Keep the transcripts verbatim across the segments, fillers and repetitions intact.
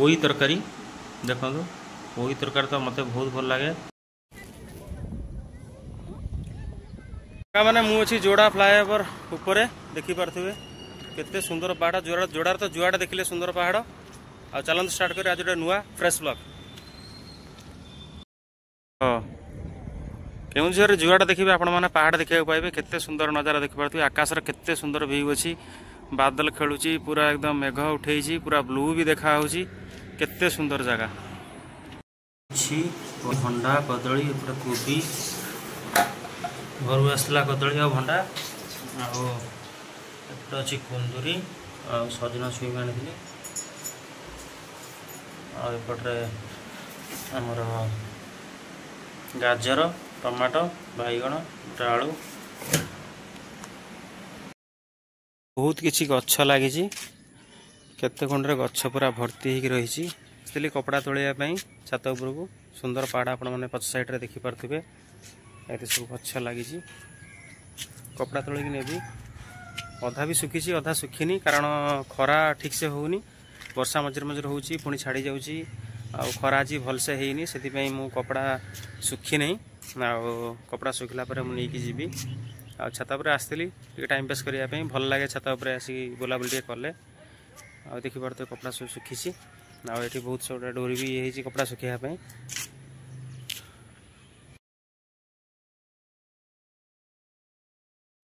ପୋଇ ତରକାରୀ। ଦେଖନ୍ତୁ, ପୋଇ ତରକାରୀ ତ ମୋତେ ବହୁତ ଭଲ ଲାଗେ। ମାନେ ମୁଁ ଅଛି ଯୋଡ଼ା ଫ୍ଲାଏଓଭର ଉପରେ, ଦେଖିପାରୁଥିବେ କେତେ ସୁନ୍ଦର ପାହାଡ଼। ଯୋଡ଼ା ଯୋଡ଼ାର ତ ଯୁଆଡ଼େ ଦେଖିଲେ ସୁନ୍ଦର ପାହାଡ଼। ଆଉ ଚାଲନ୍ତୁ ଷ୍ଟାର୍ଟ କରି ଆଜି ଗୋଟେ ନୂଆ ଫ୍ରେଶ୍ ବ୍ଲଗ୍। ହଁ, କେଉଁଝରରେ ଯୁଆଡ଼େ ଦେଖିବେ ଆପଣମାନେ ପାହାଡ଼ ଦେଖିବାକୁ ପାଇବେ। କେତେ ସୁନ୍ଦର ନଜାରା ଦେଖିପାରୁଥିବେ। ଆକାଶର କେତେ ସୁନ୍ଦର ଭିଉ ଅଛି, ବାଦଲ ଖେଳୁଛି, ପୁରା ଏକଦମ ମେଘ ଉଠେଇଛି, ପୁରା ବ୍ଲୁ ବି ଦେଖା ହେଉଛି। କେତେ ସୁନ୍ଦର ଜାଗା ଅଛି। ଭଣ୍ଡା, କଦଳୀ, ଏପଟେ କୋବି, ଘରୁ ଆସିଥିଲା କଦଳୀ ଆଉ ଭଣ୍ଡା। ଆଉ ଏପଟେ ଅଛି କୁନ୍ଦୁରି ଆଉ ସଜନା ଛୁଇଁ ଆଣିଥିଲି। ଆଉ ଏପଟରେ ଆମର ଗାଜର, ଟମାଟୋ, ବାଇଗଣ, ଗୋଟେ ଆଳୁ। ବହୁତ କିଛି ଗଛ ଲାଗିଛି, କେତେ ଖଣ୍ଡରେ ଗଛ ପୁରା ଭର୍ତ୍ତି ହେଇକି ରହିଛି। ଆସିଥିଲି କପଡ଼ା ତୋଳିବା ପାଇଁ ଛାତ ଉପରକୁ। ସୁନ୍ଦର ପାହାଡ଼ ଆପଣମାନେ ପଛ ସାଇଡ଼ରେ ଦେଖିପାରୁଥିବେ। ଏତେ ସବୁ ଗଛ ଲାଗିଛି। କପଡ଼ା ତୋଳିକି ନେବି। ଅଧା ବି ଶୁଖିଛି, ଅଧା ଶୁଖିନି, କାରଣ ଖରା ଠିକ୍ସେ ହେଉନି। ବର୍ଷା ମଝିରେ ମଝିରେ ହେଉଛି, ପୁଣି ଛାଡ଼ି ଯାଉଛି। ଆଉ ଖରା ଆଜି ଭଲସେ ହେଇନି, ସେଥିପାଇଁ ମୁଁ କପଡ଼ା ଶୁଖି ନାହିଁ। ଆଉ କପଡ଼ା ଶୁଖିଲା ପରେ ମୁଁ ନେଇକି ଯିବି। ଆଉ ଛାତ ଉପରେ ଆସିଥିଲି ଟିକେ ଟାଇମ୍ ପାସ୍ କରିବା ପାଇଁ। ଭଲ ଲାଗେ ଛାତ ଉପରେ ଆସିକି ବୁଲାବୁଲି ଟିକେ କଲେ। ଆଉ ଦେଖିପାରୁଥିବେ କପଡ଼ା ସବୁ ଶୁଖିଛି। ଆଉ ଏଠି ବହୁତ ସବୁ ଡୋରି ବି ହେଇଛି କପଡ଼ା ଶୁଖିବା ପାଇଁ।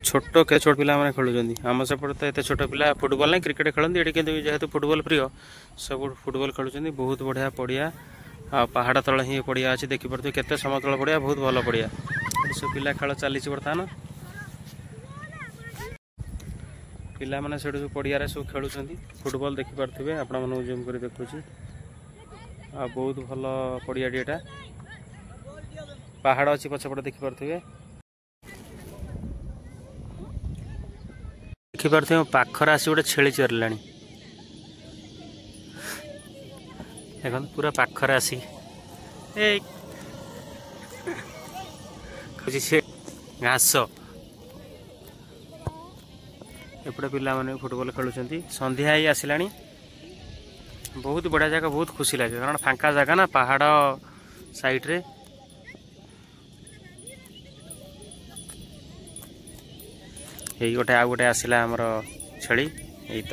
ଛୋଟ କେ ଛୋଟ ପିଲାମାନେ ଖେଳୁଛନ୍ତି। ଆମ ସେପଟେ ତ ଏତେ ଛୋଟ ପିଲା ଫୁଟବଲ ନାହିଁ, କ୍ରିକେଟ ଖେଳନ୍ତି। ଏଠି କିନ୍ତୁ ଯେହେତୁ ଫୁଟବଲ ପ୍ରିୟ, ସବୁ ଫୁଟବଲ ଖେଳୁଛନ୍ତି। ବହୁତ ବଢ଼ିଆ ପଡ଼ିଆ, ଆଉ ପାହାଡ଼ ତଳେ ହିଁ ପଡ଼ିଆ ଅଛି। ଦେଖିପାରୁଥିବେ କେତେ ସମତଳ ପଡ଼ିଆ, ବହୁତ ଭଲ ପଡ଼ିଆ। ଏଠି ସବୁ ପିଲା ଖେଳ ଚାଲିଛି ବର୍ତ୍ତମାନ। ପିଲାମାନେ ସେଠୁ ସବୁ ପଡ଼ିଆରେ ସବୁ ଖେଳୁଛନ୍ତି ଫୁଟବଲ। ଦେଖିପାରୁଥିବେ, ଆପଣମାନଙ୍କୁ ଜୁମ୍ କରି ଦେଖୁଛି। ଆଉ ବହୁତ ଭଲ ପଡ଼ିଆଟି ଏଇଟା। ପାହାଡ଼ ଅଛି ପଛପଟେ, ଦେଖିପାରୁଥିବେ। ଦେଖିପାରୁଥିବେ ପାଖରେ ଆସି ଗୋଟେ ଛେଳି ଚରିଲାଣି। ଦେଖନ୍ତୁ, ପୁରା ପାଖରେ ଆସିକି ଏଇ ସେ ଘାସ। ଏପଟେ ପିଲାମାନେ ଫୁଟବଲ ଖେଳୁଛନ୍ତି। ସନ୍ଧ୍ୟା ହେଇ ଆସିଲାଣି। ବହୁତ ବଢ଼ିଆ ଜାଗା, ବହୁତ ଖୁସି ଲାଗେ, କାରଣ ଫାଙ୍କା ଜାଗା ନା, ପାହାଡ଼ ସାଇଡ଼ରେ। ଏଇ ଗୋଟେ ଆଉ ଗୋଟେ ଆସିଲା ଆମର ଛେଳି। ଏଇ ତ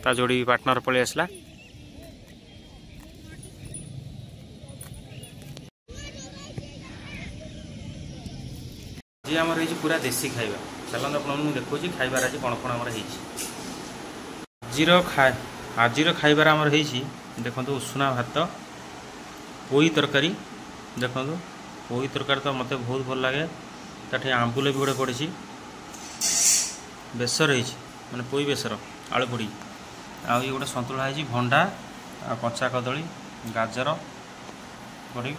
ତା ଯୋଡ଼ି ପାର୍ଟନର ପଳେଇ ଆସିଲା। ଆଜି ଆମର ହେଇଛି ପୁରା ଦେଶୀ ଖାଇବା। ଚାଲନ୍ତୁ, ଆପଣଙ୍କୁ ମୁଁ ଦେଖାଉଛି ଖାଇବାରେ ଆଜି କ'ଣ କ'ଣ ଆମର ହେଇଛି। ଆଜିର ଆଜିର ଖାଇବାରେ ଆମର ହେଇଛି, ଦେଖନ୍ତୁ, ଉଷୁନା ଭାତ, ପୋଇ ତରକାରୀ। ଦେଖନ୍ତୁ, ପୋଇ ତରକାରୀ ତ ମୋତେ ବହୁତ ଭଲ ଲାଗେ। ତାଠି ଆମ୍ବୁଲ ବି ଗୋଟେ ପଡ଼ିଛି। ବେସର ହେଇଛି, ମାନେ ପୋଇ ବେସର ଆଳୁ ପଡ଼ି। ଆଉ ଇଏ ଗୋଟେ ସନ୍ତୁଳା ହେଇଛି, ଭଣ୍ଡା ଆଉ କଞ୍ଚା କଦଳୀ, ଗାଜର ପଡ଼ି।